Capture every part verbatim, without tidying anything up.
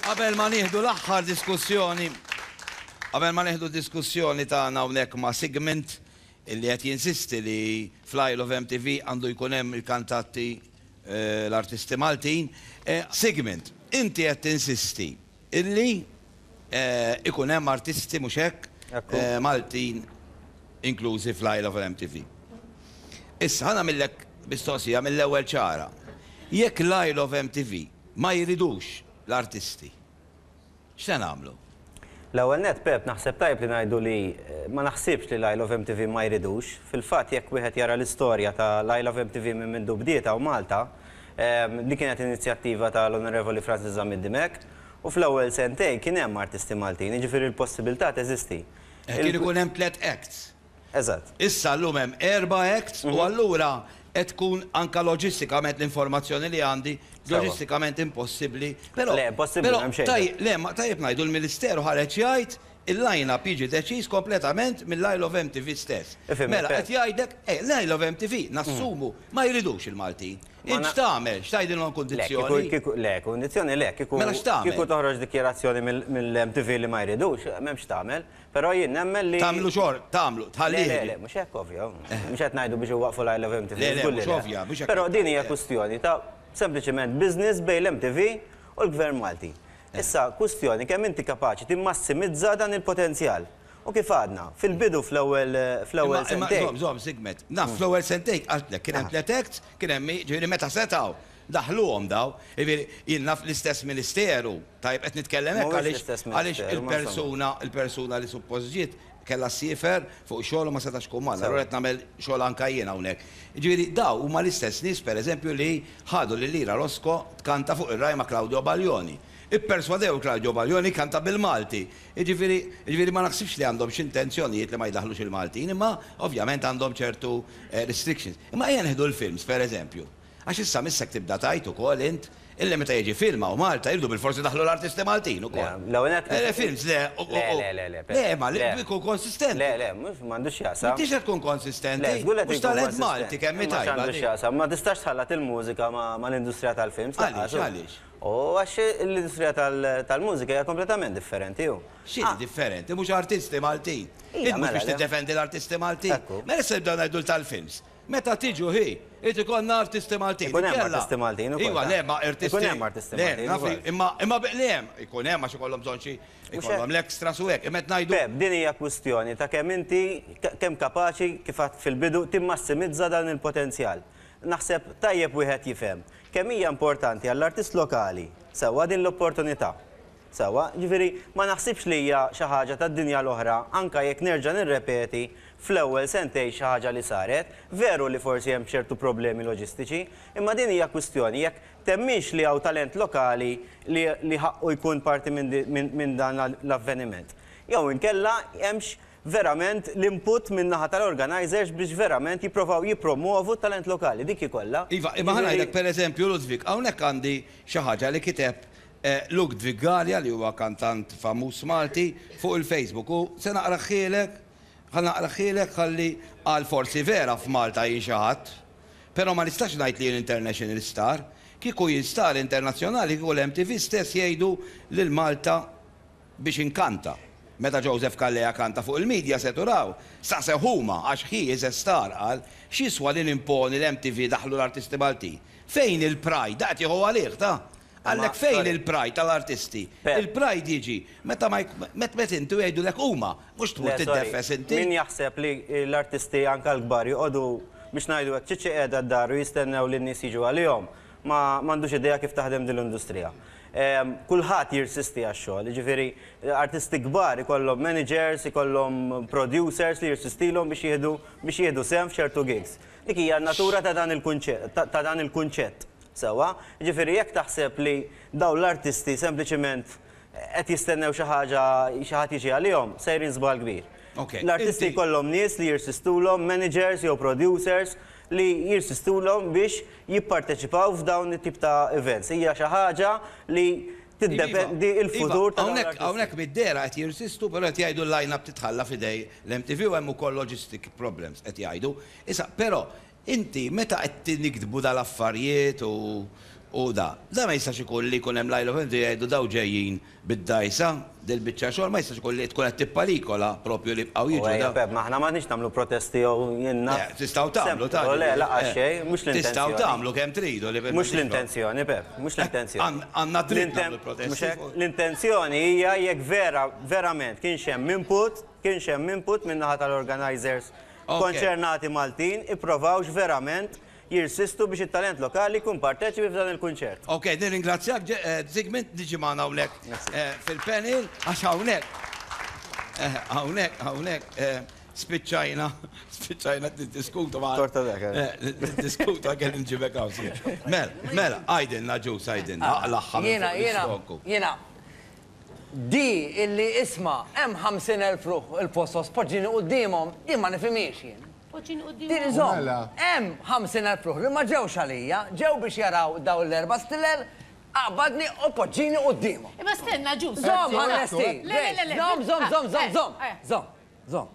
Qabel ma nieħdu l-aħħar diskussjoni, qabel ma nieħdu diskussjoni tagħna hawnhekk ma' Sigmund illi qed jinsisti li fl-Isle of M T V għandu jkun hemm il-kantanti, eh, l-artisti Maltin. Eh, Sigmund, inti qed tinsisti illi eh, ikun hemm artisti, mhux hekk, Ekku. eh, Maltin inklużi fl-Isle of M T V. Issa ħa nagħmillek mistoqsija mill-ewwel ċara. Jekk l-Isle of M T V ma jridux l-artisti, x'se nagħmlu? L-ewwel net, Pep, naħseb tajb li ngħidu li eh, ma naħsibx li l-Isle of M T V ma jridux. Fil-fatt, jekk wieħed jara l-istorja ta' l-Isle of M T V minn mindu bdiet hawn Malta, em, li kienet inizjattiva tal-Onorevoli Francis Zammit Dimech, u fl-ewwel sentejn kien hemm artisti Maltin, jiġifieri l-possibilità teżisti. Eh, Kien ikun hemm tliet acts. Eżatt. Issa llum hemm erba' acts u allura qed tkun anka loġistikament, l-informazzjoni li għandi, Sewa. loġistikament impossibbli. Però Le, impossibbli, però m'hemm xejn. taj- Le, ma tajjeb ngħidu l-Ministeru ħareġ jgħid il-line-up jiġi deċiż kompletament mill-Isle of M T V stess. Ifhem, Mela Pep. qed jgħidlek, eh, l-Isle of M T V nassumu ma jridux il-Maltin. Ma Int na- x'tagħmel? X'tgħidilhom Le, kundizzjoni? kieku, kieku, le, kundizzjoni le, kieku, Mela x'tagħmel? Kieku toħroġ dikjerazzjoni mill-M T V li ma jridux, m'hemmx tagħmel, però jien nemmen li. Tagħmlu xor, tagħmlu, Le, tħallih. le, le, mhux hekk, ovvja. Mhux qed ngħidu biex iwaqfu l-Isle of M T V. Le, le, żgur li mhux ovvja, mhux hekk. Però din hija Le. kwistjoni ta' sempliċement business bejn l-M T V u l-Gvern Malti. Issa, kwistjoni kemm inti kapaċi timmassimizza dan il-potenzjal. U kif għadna, fil-bidu, fl-ewwel fl-ewwel Imma- imma sentejn. Żomm, żomm, Sigmund. Naf, fl-ewwel sentejn qaltlek kien hemm tliet acts, kien hemm, ġifieri meta setgħu daħluhom daw, jiġifieri jien naf l-istess ministeru, tajb qed nitkellem hekk Mhuwiex għaliex l-istess għaliex ministeru, ma il-persuna il-persuna li suppost ġiet kellha ssiefer fuq xogħol u ma setax tkun magħna, allura qed nagħmel xogħol anka jien hawnhekk. Jiġifieri daw huma l-istess nies, pereżempju, li ħadu lil Ira Losco tkanta fuq ir-Rai ma' Claudio Baglioni. Ipperswadew Claudio Baglioni kanta bil-Malti. Jiġifieri jiġifieri ma naħsibx li għandhom xi intenzjonijiet li ma jdaħlux il-Maltin, imma ovvjament għandhom ċertu eh, restrictions. Imma ejja nieħdu l-films, pereżempju. Għax issa missek tibda tgħid ukoll int illi meta jiġi film hawn Malta jridu bil-forsi daħlu l-artisti Maltin ukoll. Le, l-ewwel net- Eh, films, le, u- u- Le, le, le, le. Le, ma li Le. jkun konsistenti. Le, le, mhux m'għandux x'jaqsam. M'intix qed tkun konsistenti. Le, żgur qed Mhux ikun talent konsistenti. Malti kemm hi Ma tajba x'għandu di. x'jaqsam, ma tistax tħallat il-mużika ma' ma' l-industrija tal-films. Għaliex, Lanqas. għaliex? U għax l-industrija tal- tal-mużika hija kompletament differenti ju. X'inhi differenti, mhux artisti Maltin. Ija, Int mhux mela, biex le. tiddefendi l-artisti Maltin. Ekku. Mela se nibdew ngħidu tal-films. Meta tiġu hi, irid ikollna artisti Maltin. Ikun hemm Inkella- artisti Maltin ukoll, Iva, ta' le, ma artisti. Ikun hemm artisti Le, Maltin naf li- ukoll. Imma imma le hemm, ikun hemm għax ikollhom bżonn xi ikollhom l-extras u hekk. Imma qed ngħidu Pep, din hija kwistjoni ta' kemm inti kemm kapaċi, kif għedt fil-bidu, timmassimizza dan il-potenzjal. Naħseb tajjeb wieħed jifhem kemm hija importanti għall-artist lokali sewwa din l-opportunità. Sewwa, ġifieri ma naħsibx li hija xi ħaġa tad-dinja l-oħra, anka jekk nerġa' nirrepeti, fl-ewwel sentejn xi ħaġa li saret, veru li forsi hemm ċertu problemi loġistiċi, imma din hija kwistjoni jekk temminx li hawn talent lokali li, li ħaqqu jkun parti minn di- min, min dan l-avveniment. Jew inkella hemmx verament l-input minn naħa tal-organizers biex verament jipprovaw jippromovu talent lokali, dik ikolla. Iva, imma ħa ngħidlek, per eżempju, Ludwig, hawnhekk għandi xi ħaġa li kiteb eh, Ludwig Gallia, li huwa kantant famuż Malti, fuq il-Facebook u se naqrahielek, ħa naqrahielek ħalli għal forsi vera f'Malta jien xi ħadd, però ma nistax ngħid li jien international star. Kieku jien star internazzjonali, kieku l-M T V stess jgħidu lil Malta biex inkanta. Meta Joseph Calleja kanta fuq il-media seturaw, staqsew huma għax he is a star, qal, x'jiswa li nimponi l-M T V daħlu l-artisti Malti. Fejn il-pride? Daqt jieħu għalih ta' għallek fejn Sorry. il-pride tal-artisti? Pep. Il-pride jiġi meta ma jk- met met intu jgħidu lek huma, mhux tmur Le, sorry. tiddefes inti. Min jaħseb li l-artisti anka l-kbar joqogħdu, biex ngħidu hekk, ċiċi qiegħda d-dar u jistennew li n-nies jiġu għalihom, ma m'għandux idea kif taħdem din l-industrija. Em, Kulħadd jirsisti għax-xogħol, jiġifieri artisti kbar ikollhom managers, ikollhom producers li jirsistilhom biex jieħdu biex jieħdu sehem f'ċertu gigs. Dik hija n-natura ta' dan il-kunċett, ta' ta' dan il-kunċett. Sewwa, jiġifieri jekk taħseb li dawn l-artisti sempliċement qed jistennew xi ħaġa, xi ħadd jiġi għalihom, sejrin żball kbir. Ok, L-artisti inti- jkollhom nies li jirsistulhom, managers jew producers li jirsistulhom biex jipparteċipaw f'dawn it-tip ta' events. Hija xi ħaġa li tiddependi il-futur ta' dawn Hawnhekk l-artisti. Hawnhekk mid-dehra qed jirsistu, però qed jgħidu l-line-up titħalla f'idej l-M T V u hemm ukoll logistic problems qed jgħidu. Issa, però inti meta qed niktbu dal-affarijiet u U da, da ma jistax ikun li jkun hemm Lajlo Fenzi jgħidu daw ġejjin bid-dajsa, dil-biċċa xogħol ma jistax ikun li tkun qed tipparikola propju li bqgħu jiġu. Ejja, Pep, ma aħna m'għandniex nagħmlu protesti jew jiena. Tistgħu tagħmlu ta' Le, laqas xejn, mhux l-intenzjoni. Tistgħu tagħmlu kemm tridu li Mhux l-intenzjoni, Pep, mhux l-intenzjoni. Għandna dritt nagħmlu protesti. L-intenzjoni hija jekk vera verament kienx hemm input, kienx hemm input min-naħa tal-organizers konċernati Maltin, ipprovawx verament jirsistu biex it-talent lokali jkun parteċipi f'dan il-kunċert. Ok, nirringrazzjak Zygmunt, diġi magħna hawnhekk fil-panel, għax hawnhekk hawnhekk hawnhekk spiċċajna, spiċċajna niddiskutu ma' Torta dak. Niddiskutu għal nġibek hawn. Mela, mela, għajdilna ġus, għajdilna, aqlaħħa. Jiena, jiena, jiena, di illi isma' hemm ħamsin elf ruħ il-postos poġġini quddiemhom, din ma nifhimhiex jien. Din iżomm, hemm ħamsin elf ruħ li ma ġewx għalija, ġew biex jaraw daw l-erba' stilel, aqbadni u poġġini quddiemhom. Imma stenna ġus. Żomm ħanesti. Żomm, żomm, żomm, żomm, żomm, żomm, żomm.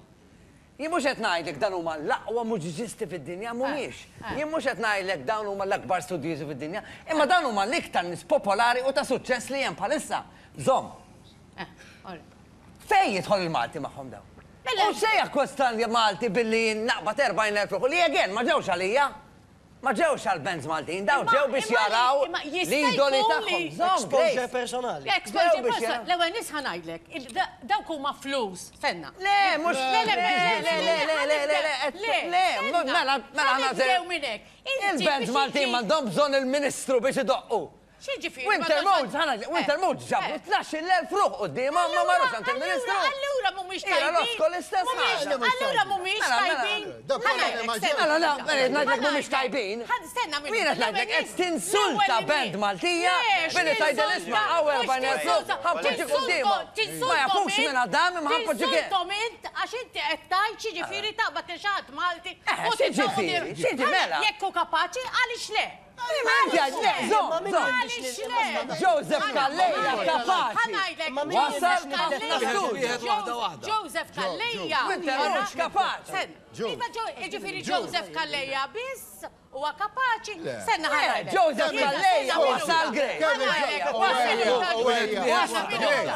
Jien mhux qed ngħidlek dan huma l-aqwa mużiċisti fid-dinja, mhumiex. Jien mhux qed ngħidlek dawn huma l-akbar studjużi fid-dinja, imma dawn huma l-iktar nies popolari u ta' suċċess li hemm bħalissa. Żomm. Fejn jidħol il-Malti magħhom dawn? U se jakkosta Malti billi naqbad erbgħin elf ruħ li again ma ġewx għalija. Ma ġewx għal bands Maltin, dawn ġew biex jaraw l-idoli tagħhom. Exposure personali. Exposure personali. L-ewwel nies ħa ngħidlek, dawk huma flus, stenna. Le, mhux le le le le le le le le mela mela nibdew minn hekk. Il-bands Maltin m'għandhom bżonn il-Ministru biex idoqqu. X'jiġifieri? Winter Moods, ħa ngħidlek, Winter Moods ġabu tnax-il elf ruħ quddiemhom ma marrux għand il-Ministru. Allura mhumiex tajbin. Roscoe l-istess ħaġa. Allura mhumiex tajbin. Mela, mela, ngħidlek mhumiex tajbin. Stenna minn. Jiena ngħidlek qed tinsulta band Maltija billi tgħidel isma' hawn erbgħin elf ruħ ħa npoġġi quddiemhom. Ma jafux minn Adam imma ħa npoġġi kien. Tinsultom int għax inti qed tgħid x'jiġifieri taqbad lil xi ħadd Malti. X'jiġifieri? X'jiġi mela? Jekk hu kapaċi għaliex le? Żomm, żomm. Joseph Calleja kapaċi. Wasal ħafna studju. Joseph Calleja. Winter mhux kapaċi. Iva ġifieri Joseph Calleja biss huwa kapaċi. Senna ħa Joseph Calleja wasal Grey. Kemm il-Joseph Calleja?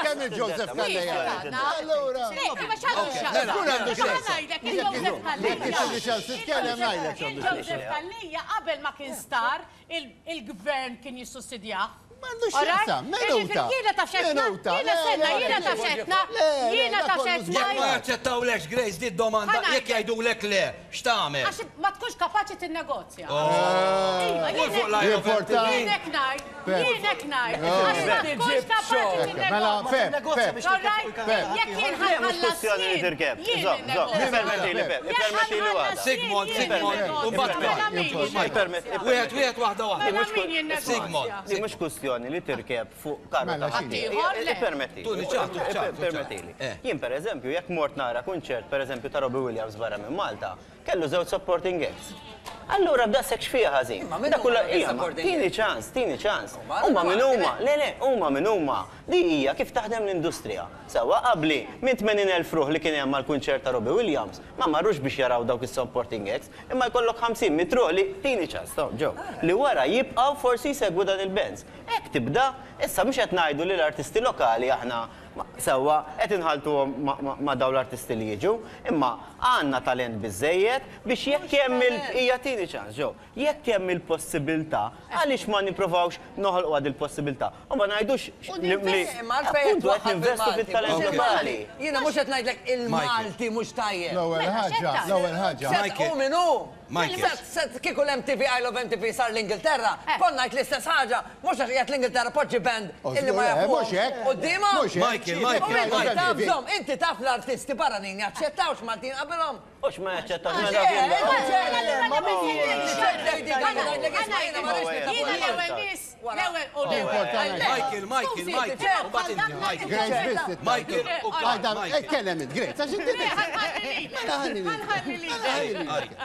Kemm il-Joseph Calleja? Allura. Żgur għandu ngħidlek il-Joseph Calleja. Titkellem ngħidlek. Il-Joseph Calleja qabel ma kien star, il-gvern kien jissussidjah. M'għandux x'jaqsam, minuta. Jiena taf xetna, jiena senna, jiena taf xetna, jiena taf xetna. Jekk ma jaċċettawlekx Grace di domanda, jekk jgħidulek le, x'tagħmel? Għax ma tkunx kapaċi tinnegozja. Jien hekk ngħid, jien hekk ngħid, għax ma tkunx kapaċi tinnegozja. Jekk jien ħallas jien. Sigmund, Sigmund, u mbagħad wieħed wieħed waħda waħda. Sigmund. Mhux kwestjoni li tirkeb fuq karru ta' ħaddieħor. Permettili. Permettili. Jien pereżempju jekk mort nara kunċert pereżempju ta' Robbie Williams barra minn Malta, kellu żewġ supporting acts. Allura b'daqshekk x'fiha ħażin. Dak kollha tieni ċans, tieni ċans. Huma min huma, le le, huma min huma. Di hija kif taħdem l-industrija. Sewwa qabli minn tmenin elf ruħ li kien hemm mal-kunċert ta' Robbie Williams, ma marrux biex jaraw dawk is-supporting acts, imma jkollok ħamsin mit ruħ li tieni ċans, ġew, li wara jibqgħu forsi jsegwu dan il-bands. Hekk tibda, issa mhux qed ngħidu li l-artisti lokali aħna sewwa qed inħaltuhom ma' dawn l-artisti li jiġu, imma għandna talent biżejjed biex jekk hemm il hija tieni ċans ġew, jekk hemm il-possibilità, għaliex ma nipprovawx noħolqu għad il-possibilità. U ma ngħidux li appuntu qed ninvestu fit-talent lokali. Jiena mhux qed ngħidlek il-Malti mhux tajjeb. L-ewwel ħaġa, l-ewwel ħaġa. Hu min hu. Kieku l-M T V I Love M T V sar l-Ingilterra, konna ngħid l-istess ħaġa, mhux għax qiegħed l-Ingilterra poġġi band illi ma jafux. Quddiemhom. Michael, Michael, Michael. Inti taf l-artisti barranin jaċċettawx Maltin qabilhom. Mhux ma jaċċettawx. Michael, Michael, Michael. Michael, Michael. Ikkellem int, Grace, għax inti.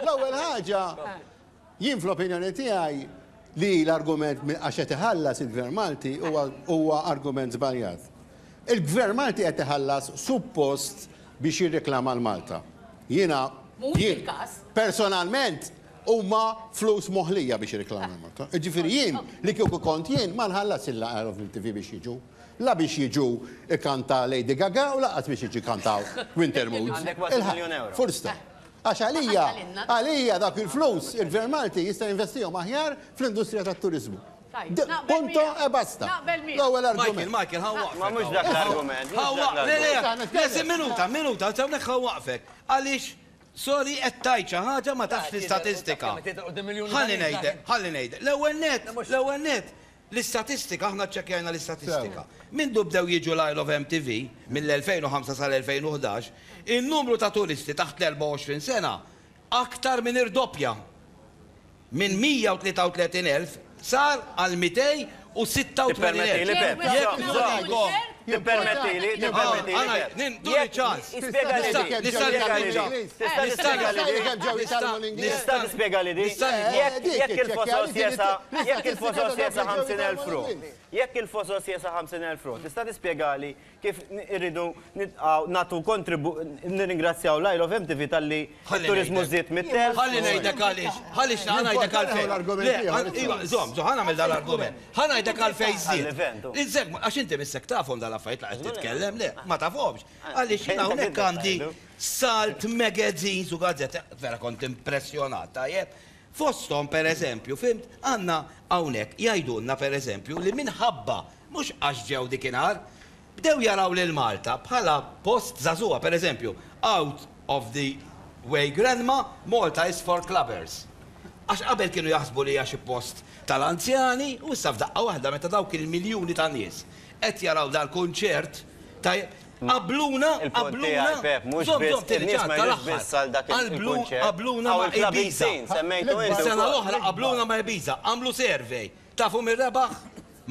L-ewwel ħaġa, jien fl-opinjoni tiegħi li l-argument għax qed iħallas il-Gvern Malti huwa argument żbaljat. Il-Gvern Malti qed iħallas suppost biex jirreklama l-Malta. Jiena personalment Huma flus moħlija biex jirreklamaw Malta. Ġifieri jien li kieku kont jien ma nħallas il-Isle of M T V biex jiġu. La biex jiġu ikanta Lady Gaga u laqas biex jiġu kantaw Winter Moods. Għandek kważi miljun euro. Fursta. Għax għalija, għalija dak il-flus il-Gvern Malti jista' jinvestihom aħjar fl-industrija tat-turizmu. Punto e basta. L-ewwel argument. Michael, Michael, ħa waqfek. Ma mhux dak l-argument. Ħa waqfek. Le, le, minuta, minuta, hawnhekk ħa waqfek. Għaliex, sorry, qed tgħid xi ħaġa ma tafx l-istatistika. Ħalli ngħidlek, ħalli ngħidlek. L-ewwel net, l-ewwel net, l-istatistika, aħna ċċekkjajna l-istatistika. Mindu bdew jiġu l-Isle of M T V mill-elfejn u ħamsa sal-elfejn u ħdax, in-numru ta' turisti taħt l-erbgħa u għoxrin sena aktar minn irdoppja. Minn mija u tlieta u tletin elf sar għal mitej u sitta u tmenin elf. Tippermettili, Pep. Tippermettili, tippermettili. Duri ċans. Nista' tispjega li di. Jekk il-fosos jesa, jekk il-fosos jesa ħamsin elf ruħ. Jekk il-fosos jesa ħamsin elf ruħ, tista' tispjegali kif irridu nagħtu kontribu nirringrazzjaw l-Isle of M T V talli t-turizmu żdied mit-telf. Ħalli ngħidlek għaliex, ħalli ngħidlek għalfejn. Żomm, żomm, ħa nagħmel dal-argument. Ħa ngħidlek għalfejn żdied. Għax inti missek tafhom dal-affarijiet la qed titkellem, le, ma tafhomx. Għaliex jiena hawnhekk għandi Salt magazines u gazzetti, vera kont impressjonat, tajjeb. Fosthom per eżempju, fimt, għandna hawnhekk jgħidulna per eżempju li minħabba mhux għax ġew dikinhar, bdew jaraw lil Malta bħala post żagħżugħa, per eżempju, out of the way grandma, Malta is for clubbers. Għax qabel kienu jaħsbu li hija xi post tal-anzjani u issa f'daqqa waħda meta dawk il-miljuni ta' nies qed jaraw dal-kunċert, tajjeb, qabluna, qabluna, żomm, żomm, tieni ċans tal-aħħar. Qabluna ma' Ibiza. Sena l-oħra qabluna ma' Ibiza, għamlu survey. Tafu min rebaħ?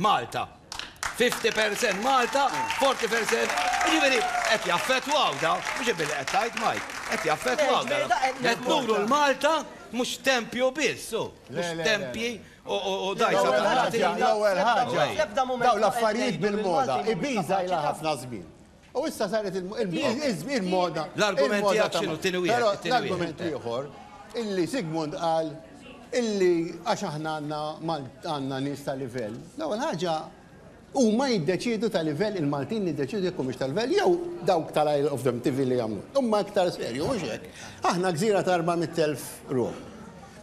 Malta. fifty percent Malta, forty percent. Jiġifieri qed jaffettwaw daw, mhux billi qed tgħid Mike, qed jaffettwaw daw. Qed nuru l-Malta mhux tempju biss, mhux tempji u dajsa tal-Latina. L-ewwel ħaġa, daw l-affarijiet bil-moda, Ibiza ilha ħafna żmien. U issa saret il-moda. L-argument tiegħek x'inhu tieni wieħed. L-argument ieħor illi Sigmund qal illi għax aħna għandna nies ta' livell. L-ewwel ħaġa huma jiddeċiedu ta' livell, il-Maltin jiddeċiedu jekk humiex ta' livell jew dawk tal-Isle of M T V li jagħmlu. Huma aktar serju, mhux hekk. Aħna gżira ta' erba' mitt elf ruħ.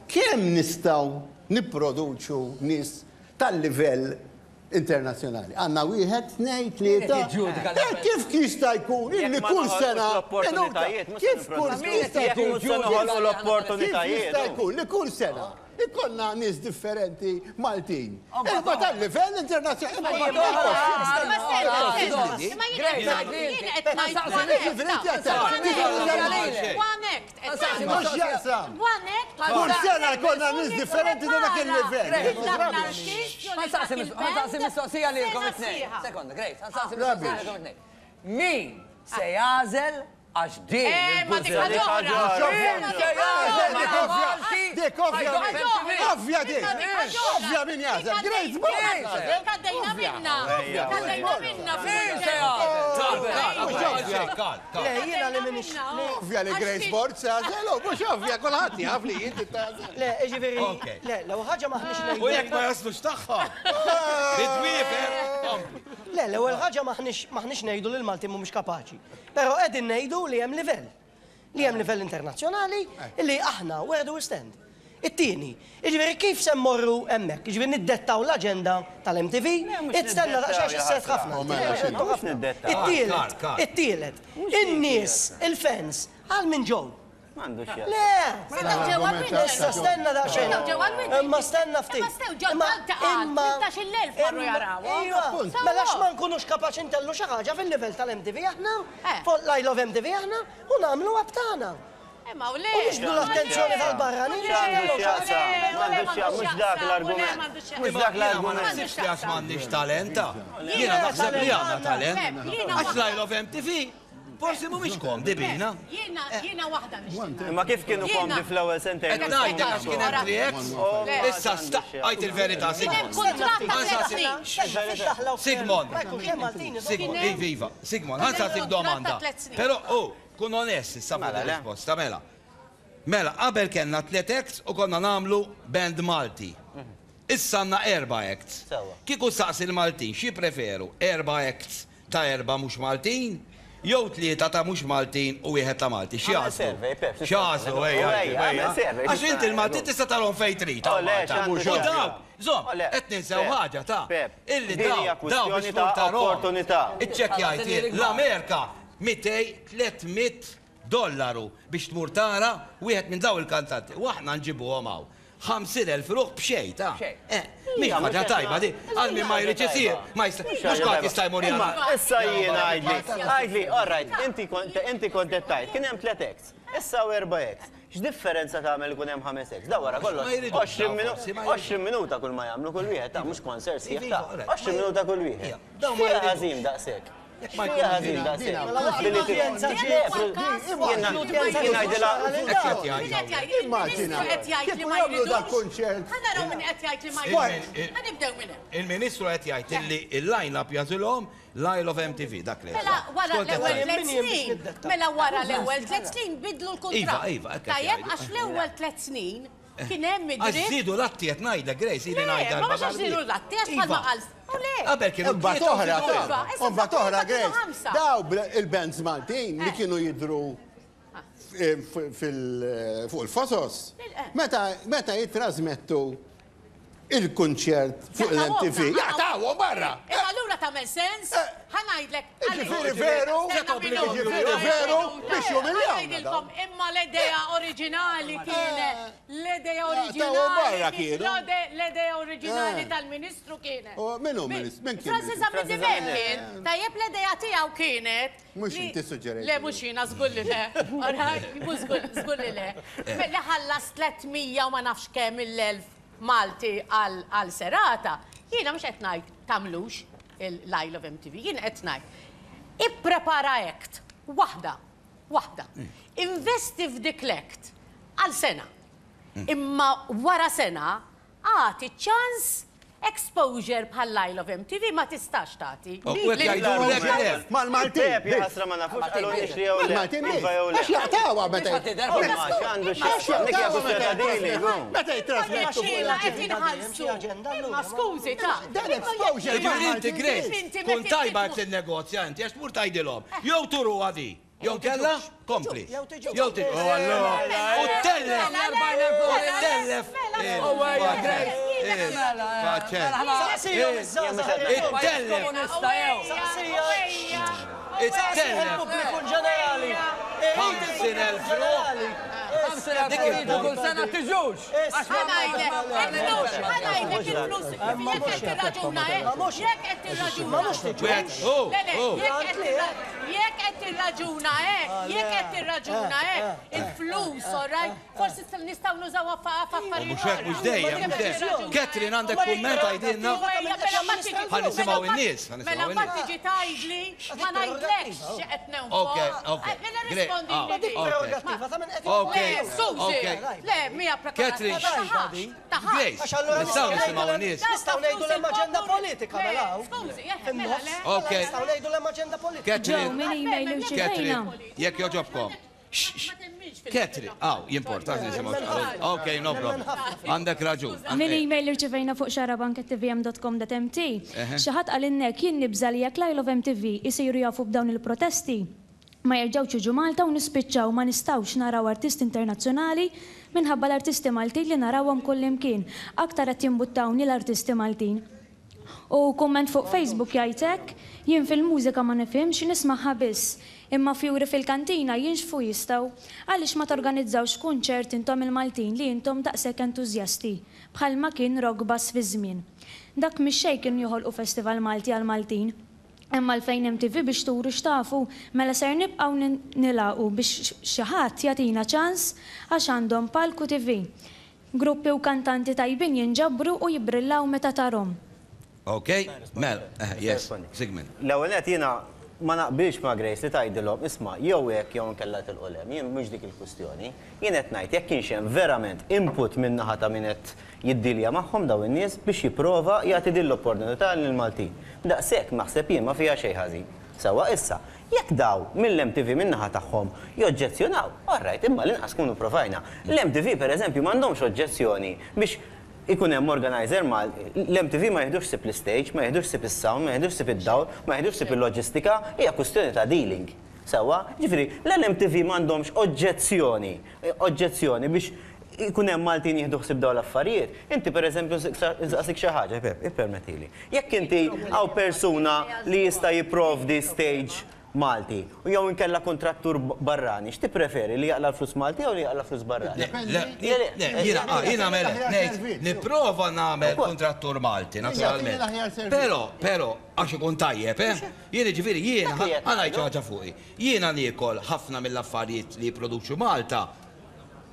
Kemm nistgħu nipproduċu nies tal-livell internazzjonali? Għandna wieħed, tnejn, tlieta. Kif jista' jkun illi kull sena kif kull jista' jkun jista' jkun li kull sena ikollna nies differenti Maltin. Imma tal-livell internazzjonali. Kull sena jkollna nies differenti ta' dak il-livell. Ħa nsaqsi mistoqsija lilkom it-tnejn. Sekonda, Grace, ħa nsaqsi mistoqsija lilkom it-tnejn. Min se jagħżel għax din il-buża. Dik ovvja, ovvja dik, ovvja min jagħżel, Grace Borg. Kaddejna minna, kaddejna minna. Le, jiena li minix. Ovvja li Grace Borg se jagħżel, mhux ovvja kulħadd jaf li inti tagħżel. Le, jiġifieri, le, l-ewwel ħaġa m'aħniex ngħidu. U jekk ma jaslux tagħha. Bidwiefer. Le, l-ewwel ħaġa m'aħniex ngħidu li l-Maltin mhumiex kapaċi. Però qegħdin ngħidu li hemm livell. Li hemm livell internazzjonali li aħna where do we stand. It-tieni, jiġifieri kif se mmorru hemmhekk, jiġifieri niddettaw l-aġenda tal-M T V, itstenna daqsxejn isset ħafna. It-tielet, it-tielet, in-nies, il-fans, għal min ġew. Le, issa stenna daqsxejn. Imma stenna ftit. Imma Iva, mela ma nkunux kapaċi ntellu xi ħaġa fil-livell tal-M T V aħna, fuq l-Isle of M T V aħna, u nagħmlu tagħna. Imma u le. U nixbdu l-attenzjoni tal-barranin. Mhux dak l-argument. Mhux dak l-argument. Ma naħsibx li għax m'għandniex talenta. Jiena naħseb li għandna talent. Għax l-Isle of M T V forsi mhumiex komdi bina. Jiena jiena waħda nixtieq. Imma kif kienu komdi fl-ewwel sentejn? Qed ngħidlek għax kien hemm three X. Issa staqajt il-verità, Sigmund. Sigmund. Sigmund, iva, Sigmund, ħa nsaqsik domanda. Però, oh, kun onest issa fuq ir-risposta, mela. Mela, qabel kellna tliet acts u konna nagħmlu band Malti. Issa għandna erba' acts. Kieku saqsi l-Maltin, xi preferu? Erba' acts ta' erba' mhux Maltin, jew tlieta ta' mhux Maltin u wieħed ta' Malti. Xi għażlu? Xi għażlu, ejja, ejja. Għax inti l-Maltin tista' tarhom fejn trid. U dawk, żomm, qed ninsew ħaġa ta' illi dawk, dawk biex tmur tarhom. Iċċekkjajt l-Amerika mitej tliet mitt dollaru biex tmur tara wieħed minn daw il-kantanti. U aħna nġibuhom hawn. ħamsin elf ruħ b'xejn ta' mhix ħaġa tajba di, għal min ma jridx isir, ma jista' mhux kulħadd jista' jmur jara. Issa jien għidli, għidli, all right, inti kont qed tgħid, kien hemm tliet acts, issa hawn erba' acts. X'differenza tagħmel ikun hemm ħames acts? Da wara kollox għoxrin minuta kull ma jagħmlu kull wieħed ta' mhux concert sħiħ ta' għoxrin minuta kull wieħed. X'fiha ħażin daqshekk? X'fiha ħażin daqshekk? Immaġina, kieku jagħmlu dak kunċert. Ħa naraw min qed jgħid li ma jridux. Ħa nibdew minn hemm. Il-Ministru qed jgħid illi il-line-up jagħżilhom l-Isle of M T V dak li. Mela wara l-ewwel tliet snin. Mela wara l-ewwel tliet snin bidlu l-kuntratt. Iva, iva, Tajjeb għax l-ewwel tliet snin kien hemm id-dritt. Għax żiedu l-atti qed ngħidlek, Grace, ili ngħidha. Le, ma mhux għax żiedu l-atti għax bħalma qal. Qabel kienu Imbagħad oħra, imbagħad oħra, Grace. Daw il-bands Maltin li kienu jidhru fuq il-fosos. Meta jitrasmettu il-kunċert fuq l-M T V, jaqtawhom barra. Imma allura tagħmel sens, ħa ngħidlek. Ġifieri veru, ġifieri veru biex jumiljawna. Imma l-idea oriġinali kienet, l-idea oriġinali, l-idea oriġinali tal-Ministru kienet. Min hu Ministru? Min kien? Francis Zammit Dimech kien. Tajjeb l-idea tiegħu kienet. Mhux inti suġġerejt. Le mhux jiena żgur li le. Żgur li le. Li ħallas tliet mija u ma nafx kemm il-elf Malti għal serata, jiena mhux qed ngħid tagħmlux l-Isle of M T V, jiena qed ngħid ipprepara act waħda, waħda. Investi f'dik l-act għal sena. Imma wara sena agħti ċans exposure bħal l-Isle of M T V ma tistax tagħti. Mal-Maltin. Ħasra ma nafux qalulniex li jew le. Mal-Maltin għax jaqtawha meta. Meta jitrasmettu fuq Imma skużi ta' Dan exposure. Ġifieri inti Grace, kun tajba jekk tinnegozja inti għax tmur tgħidilhom. Jew turuha di. Jew kella, kompli. Jew tiġu. U tellef. U tellef. It-tellef. Il-pubbliku ġenerali. ħamsin elf ruħ. Dik kull sena tiġux. Ħa ngħidlek, il-flus, ħa ngħidlek il-flus, jekk qed tirraġuna hekk, jekk qed tirraġuna. Jekk qed tirraġuna hekk, jekk qed tirraġuna hekk, il-flus, all right, forsi nistgħu nużawha f'affarijiet. Mhux hekk, mhux dejjem, mhux dejjem. Catherine għandek kumment għajdilna. Ħa nisimgħu in-nies, ħa nisimgħu Mela in-nies. mbagħad tiġi tgħidli ma ngħidlekx xi qed nonfoq. Ok, ok. Mela rispondi li. Prerogattiva ta' min qed Ok. Skużi, le, mija Catherine, Grace. Grace, nistgħu nisimgħu in-nies. Nistgħu ngħidu l-hemm aġenda politika mela hawn. Skużi, mela le. Ok. Nistgħu ngħidu l-hemm aġenda politika. Catherine, Min email Catherine, irċivejna. jekk joġobkom. Catherine, aw, jimporta nisimgħu. Ok, no problem. Għandek raġun. Min email irċivejna fuq xarabank at t v m dot com dot m t. Xi ħadd qalilnek jien nibża' li jekk l-Isle of M T V isiru jafu b'dawn il-protesti, ma jerġgħux jiġu Malta u nispiċċaw ma nistgħux naraw artisti internazzjonali minħabba l-artisti Maltin li narawhom kullimkien. Aktar qed jimbuttawni l-artisti Maltin. U kumment fuq Facebook jgħid hekk, jien fil-mużika ma nifhimx nismaħħa biss, imma fjuri fil-kantina jinxfu jistgħu. Għaliex ma torganizzawx kunċert intom il-Maltin li intom daqshekk entużjasti, bħalma kien rock bass fi żmien. Dak mhix xejn kienu joħolqu festival Malti għal Maltin. Imma l-fejn M T V biex turu x'tafu, mela ser nibqgħu nilaqu biex xi ħadd jagħtina ċans għax għandhom palku T V. Gruppi u kantanti tajbin jinġabru u jibrillaw meta tarhom. Ok, Mel, yes, Sigmund. L-ewwel nett jiena ma naqbilx ma' Grace li tgħidilhom isma' jew hekk jew inkella tilqu hemm, jien mhux dik il-kwistjoni. Jien qed ngħid jekk kienx hemm verament input min naħa ta' min qed jiddilja magħhom dawn in-nies biex jipprova jagħti din l-opportunità lill-Maltin. Daqshekk naħseb jien ma fiha xejn ħażin. Sewwa issa, Jekk daw mill-M T V min-naħa tagħhom joġġezzjonaw, all right, imma l-inqas kunu provajna. L-M T V pereżempju m'għandhomx oġġezzjoni biex ikun hemm organizer mal l-M T V ma jieħdux ħsieb l-stage, ma jieħdux ħsieb is-sound, ma jieħdux ħsieb id-dawl, ma jieħdux ħsieb il-loġistika, hija kwistjoni ta' dealing. Sewwa, ġifieri, l-M T V m'għandhomx oġġezzjoni, oġġezzjoni biex ikun hemm Maltin jieħdu ħsieb dawn l-affarijiet. Inti pereżempju nsaqsik xi ħaġa, ippermettili. Jekk inti hawn persuna li jista' jipprovdi stage Malti u jew inkella kontrattur barrani, x'tippreferi li jaqla l-flus Malti jew li jaqla flus barrani? Jiena nagħmel ngħid nipprova nagħmel kontrattur Malti naturalment. Però, però għax ikun tajjeb, eh? Jien ġifieri jiena ħa ngħid xi ħaġa fuqi. Jiena niekol ħafna mill-affarijiet li jipproduċu Malta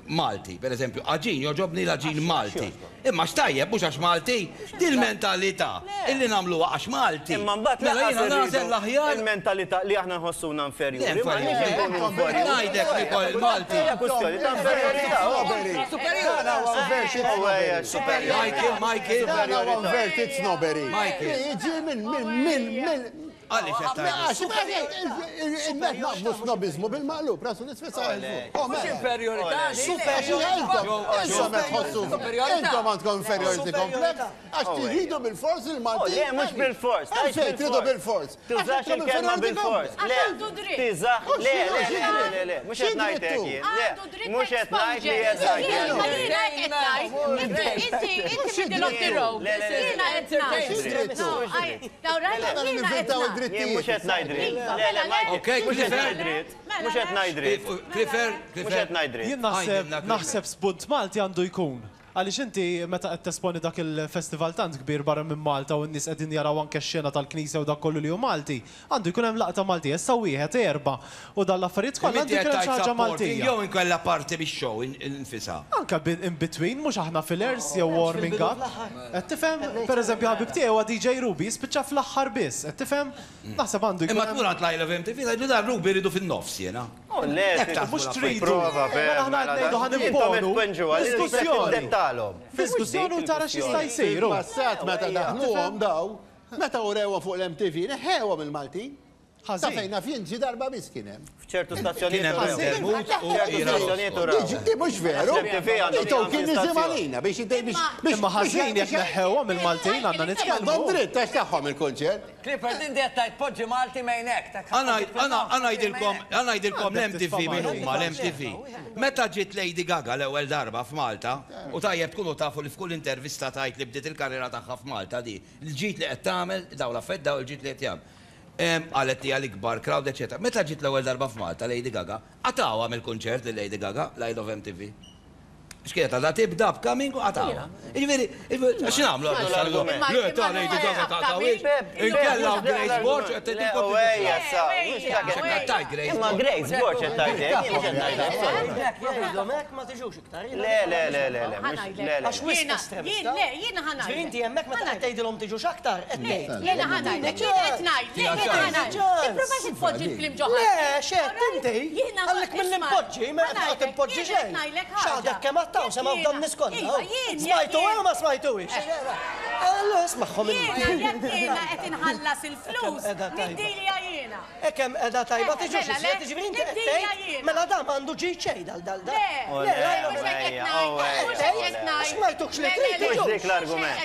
Malti, per eżempju, għaġin, joġobni l-għaġin Malti. Imma x'tajjeb mhux għax Malti, dil-mentalità illi nagħmluha għax Malti. Imma mbagħad mela jiena nagħżel l-aħjar. Il-mentalità li aħna nħossuna inferjuri. Ngħidlek li kol il-Malti. Hija kwistjoni ta' inferjorità. Superjor. Michael, Michael. Dan huwa inverted snobbery. Jiġi minn minn minn minn Għaliex qed Għax il-net naqblu snobizmu bil-maqlub, rasu nisfisa. Mhux inferjorità. Intom qed tħossu. Intom għandkom inferiority complex għax tridu bil-fors il-Malti. Le, mhux bil-fors. Għalfejn tridu bil-fors. Tużax il-kelma bil-fors. Le, tiżax, le, le, le, le, mhux qed ngħidlek jien. Le, mhux qed ngħid li qed ngħid. Inti, inti middle of the road. Jiena qed ngħid. Jien mhux qed ngħid dritt. Le, le, mhux qed ngħid dritt. Mhux qed ngħid dritt. Clifford, mhux qed ngħid dritt. Jien naħseb naħseb spunt Malti għandu jkun. Għaliex inti meta qed tesponi dak il-festival tant kbir barra minn Malta u n-nies qegħdin jaraw anke x-xena tal-Knisja u dak kollu li hu Malti, għandu jkun hemm laqta Maltija, issa wieħed erba' u dan l-affarijiet kollha għandu jkun hemm xi ħaġa Maltija. Jew inkella parti bix-show infisha. Anke in between, mhux aħna fillers jew warming up. Qed tifhem, pereżempju ħabib tiegħi huwa D J Ruby jispiċċa fl-aħħar biss, qed tifhem? Naħseb għandu jkun. Imma tmur għand l-I Love M T V tgħidu dan Ruby rridu fin-nofs jiena. Mhux tridu. Mela aħna qed ngħidu ħa nimponu. Diskussjoni. Diskussjoni u tara x'jista' jsir. Passat meta daħluhom daw, meta urewhom fuq l-M T V, neħewhom il-Maltin. Ta' fejn naf jien ġi darba biss kien hemm. F'ċertu stazzjonijiet uraw. Di mhux veru. Kien niżim għalina biex biex. Imma ħażin jekk neħewhom il-Maltin għandna nitkellmu. Għandhom dritt għax tagħhom il-kunċert. Clifford, inti qed tgħid poġġi Malti mejnek. Ħa ngħidilkom, ħa ngħidilkom l-M T V min huma l-M T V. Meta ġiet Lady Gaga l-ewwel darba f'Malta, u tajjeb tkunu tafu li f'kull intervista tajt li bdiet il-karriera tagħha f'Malta di, l-ġid li qed tagħmel daw l-affett daw il-ġid li qed jagħmel. Qalet li għal ikbar crowd, eccetera. Meta ġiet l-ewwel darba f'Malta Lady Gaga, qatawha mill-kunċert li Lady Gaga, l-I Love M T V. X'kienet għadha tibda b'coming u qatawha. Jiġifieri, x'nagħmlu Le ta' Lady Gaga taqtawhiex. Inkella Grace Borg qed tgħidilkom. Imma Grace Borg qed tgħidlek. Ma tiġux iktar. Le, le, le, le, le. Għax wisq estremista. Le, jiena ħa ngħid. Inti hemmhekk meta qed tgħidilhom tiġux aktar, qed tgħid. Jiena ħa ngħidlek, jiena qed ngħid, jiena ħa ngħid. Tipprovax tpoġġi l-kliem ġo Le, x'qed inti? Għalhekk milli npoġġi, ma qed impoġġi xejn. X'għadek kemm għattaw sema f'dan nies kollha. Smajtu jew ma smajtuhiex? Allura ismagħhom Jiena jekk jiena qed inħallas il-flus, niddilja jiena. Hekk hemm qiegħda tajba tiġux iżjed, jiġifieri inti qed tgħid mela dan m'għandu ġid xejn dal dal dal. Le, Smajtukx li trid. Mhux dik l-argument.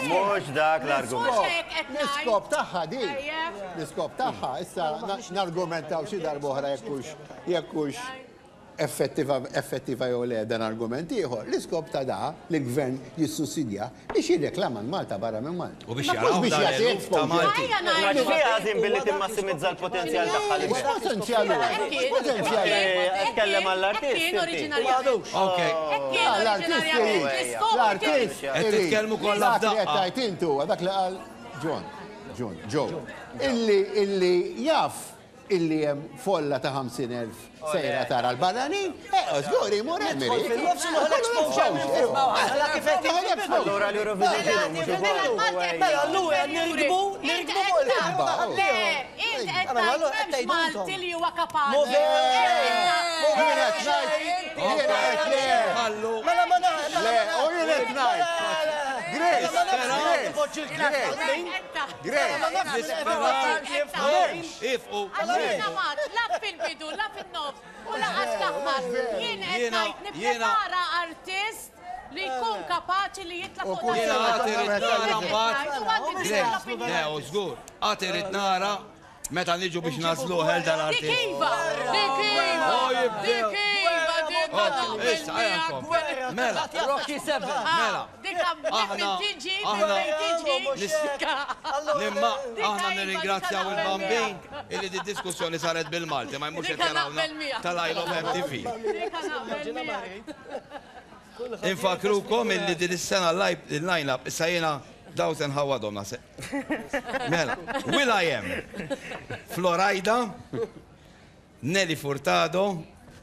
Mhux dak l-argument. L-iskop tagħha di. L-iskop tagħha issa nargumentaw xi darba oħra jekk hux jekk hux effettiva effettiva jew le dan argument ieħor. L-iskop ta' da li l-gvern jissussidja biex jirreklama Malta barra minn Malta. U biex jaraw biex jagħti ta' Malti. Ma x'fiha ħażin billi timmassimizza l-potenzjal tagħha li Potenzjal Potenzjal. Tkellem għall-artist. Kien oriġinarjament. Okej. L-artist L-artist. Qed titkellmu kollha Dak li qed f'daqqa. tgħid intu dak li qal John, John, Joe. Illi illi jaf illi hemm folla ta' ħamsin elf sejra tara l-barranin, eh, żgur imur hemm irid. Fil-nofs noħol exposure. Mela kif qed Allura l-Eurovision kienu mhux ukoll. Mela allura nirkbu, nirkbu fuq il-ħarba. Le, int qed Mela, allura tgħid qed m'hemmx tgħidu Malti li huwa kapaċi. Mo veru Jien qed ngħid, jien qed le. Ħallu. Mela ma nagħmel. Le, u jien qed ngħid. Grace, Grace, Grace. Ifqu. La fil-bidu, la fil-nofs, u laqas l-aħħar. Jien qed ngħid nipprepara artist li jkun kapaċi li jitla' fuq Jiena għad irrid nara mbagħad. Le, u żgur, għad irrid nara meta niġu biex nażlu ħel dal-artist. Dik iva, dik iva, dik iva, dik Issa, mela, Rocky Seven. Mela. Dik tiġi, tiġi. Nimma, aħna nirringrazzjaw il-Bambin illi di diskussjoni saret bil-Malti, ma jmux qed jarawna tal-I Love M T V. Infakrukom illi din is-sena l-line-up issa jiena daw se nħawadhom naħseb. Mela, Will I Am, Florida, Nelly Furtado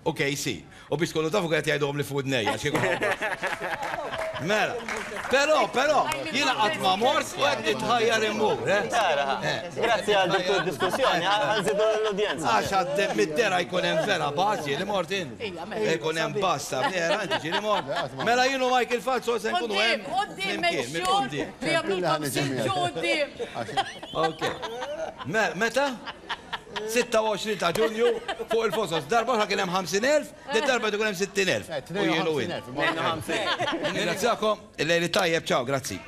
u K C. U biex tkunu tafu qed jgħidhom li fuq dnejja xi Mela, però, però, jiena qatt ma mort u qed nitħajjar immur, eh? Grazzi għal dik id-diskussjoni, għanżidu l-udjenza. Għax għaddem mid-dera jkun hemm vera baż ġieli mort in. Jkun hemm basta vera inti ġieli mort. Mela jien u Michael Falzo se nkunu hemm. Quddiem, make sure li jagħmlulkom siġġu quddiem. Ok. Meta? sitta u għoxrin ta' Ġunju fuq il-Fosos. Darba oħra kien hemm ħamsin elf, din darba jkun hemm sittin elf. U jien u jien. Ringrazzjakom, il-lejli tajjeb, ciao, grazzi.